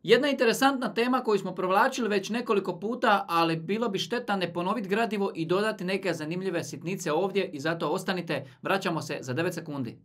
Jedna interesantna tema koju smo provlačili već nekoliko puta, ali bilo bi šteta ne ponoviti gradivo i dodati neke zanimljive sitnice ovdje i zato ostanite, vraćamo se za 9 sekundi.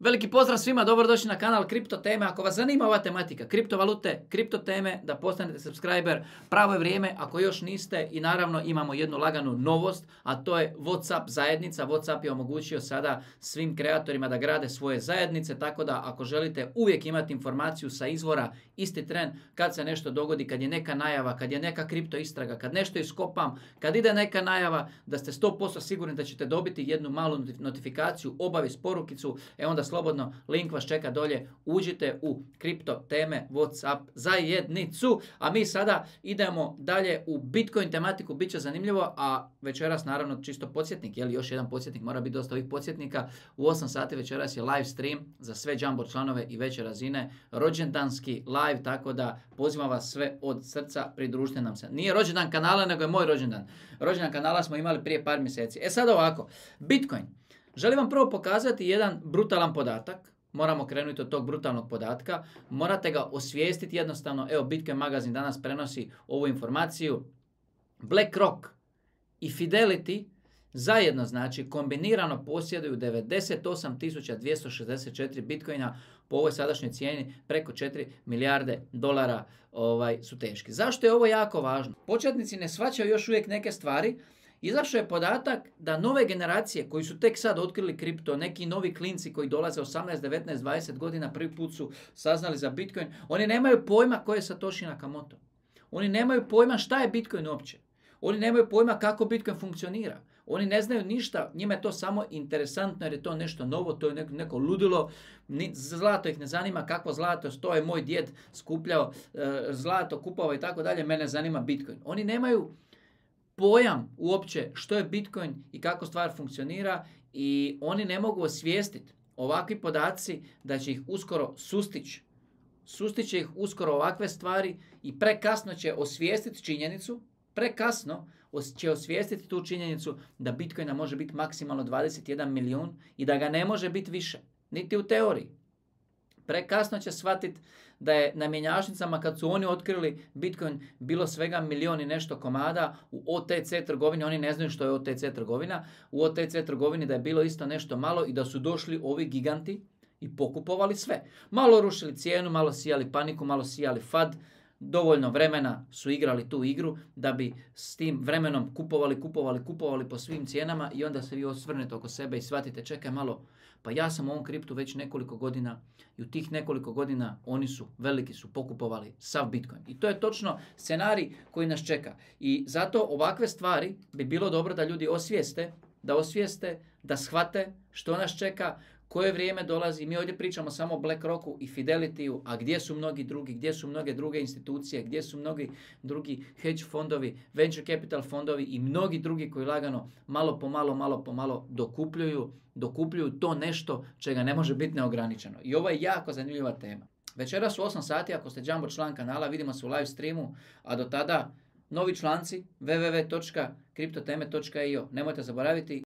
Veliki pozdrav svima, dobrodošli na kanal Kripto teme. Ako vas zanima ova tematika, kriptovalute, kripto teme, da postanete subscriber, pravo je vrijeme ako još niste. I naravno imamo jednu laganu novost, a to je WhatsApp zajednica. WhatsApp je omogućio sada svim kreatorima da grade svoje zajednice, tako da ako želite uvijek imati informaciju sa izvora, isti tren, kad se nešto dogodi, kad je neka najava, kad je neka kripto istraga, kad nešto iskopam, kad ide neka najava, da ste 100% sigurni da ćete dobiti jednu malu notifikaciju, obavijest, porukicu, onda slobodno, link vas čeka dolje, uđite u kripto teme WhatsApp zajednicu, a mi sada idemo dalje u Bitcoin tematiku, bit će zanimljivo, a večeras naravno čisto podsjetnik, još jedan podsjetnik, mora biti dosta ovih podsjetnika, u 8 sati večeras je live stream za sve Jumbo članove i veće razine, rođendanski live, tako da pozivam vas sve od srca, pridružite nam se. Nije rođendan kanala, nego je moj rođendan. Rođendan kanala smo imali prije par mjeseci. Sad ovako, Bitcoin. Želim vam prvo pokazati jedan brutalan podatak. Moramo krenuti od tog brutalnog podatka. Morate ga osvijestiti jednostavno. Evo, Bitcoin magazin danas prenosi ovu informaciju. BlackRock i Fidelity zajedno, znači kombinirano posjeduju 98.264 Bitcoina, po ovoj sadašnjoj cijeni preko 4 milijarde dolara su teški. Zašto je ovo jako važno? Početnici ne shvaćaju još uvijek neke stvari. Izašao je podatak da nove generacije koji su tek sad otkrili kripto, neki novi klinci koji dolaze 18, 19, 20 godina prvi put su saznali za Bitcoin, oni nemaju pojma ko je Satoshi Nakamoto. Oni nemaju pojma šta je Bitcoin uopće. Oni nemaju pojma kako Bitcoin funkcionira. Oni ne znaju ništa, njima je to samo interesantno jer je to nešto novo, to je neko ludilo, zlato ih ne zanima, kakvo zlato, to je moj djed skupljao zlato, kupovao i tako dalje, mene zanima Bitcoin. Oni nemaju pojam uopće što je Bitcoin i kako stvar funkcionira i oni ne mogu osvijestiti ovakvi podaci da će ih uskoro sustići. Sustiće ih uskoro ovakve stvari i prekasno će osvijestiti činjenicu, prekasno će osvijestiti tu činjenicu da Bitcoina može biti maksimalno 21 milijun i da ga ne može biti više, niti u teoriji. Prekasno će shvatiti da je na mjenjačnicama kad su oni otkrili Bitcoin bilo svega milijon i nešto komada u OTC trgovini, oni ne znaju što je OTC trgovina, u OTC trgovini da je bilo isto nešto malo i da su došli ovi giganti i pokupovali sve. Malo rušili cijenu, malo sijali paniku, malo sijali FAD, dovoljno vremena su igrali tu igru da bi s tim vremenom kupovali po svim cijenama i onda se vi osvrnete oko sebe i shvatite, čekaj malo, pa ja sam u ovom kriptu već nekoliko godina i u tih nekoliko godina oni su, veliki su pokupovali sav Bitcoin. I to je točno scenarij koji nas čeka. I zato ovakve stvari bi bilo dobro da ljudi osvijeste, da shvate što nas čeka, koje vrijeme dolazi. Mi ovdje pričamo samo o BlackRocku i Fidelityu, a gdje su mnogi drugi, gdje su mnoge druge institucije, gdje su mnogi drugi hedge fondovi, venture capital fondovi i mnogi drugi koji lagano malo po malo dokupljuju to nešto čega ne može biti neograničeno. I ovo je jako zanimljiva tema. Večeras u 8 sati, ako ste Jumbo član kanala, vidimo se u live streamu, a do tada novi članci www.kriptoteme.io. Nemojte zaboraviti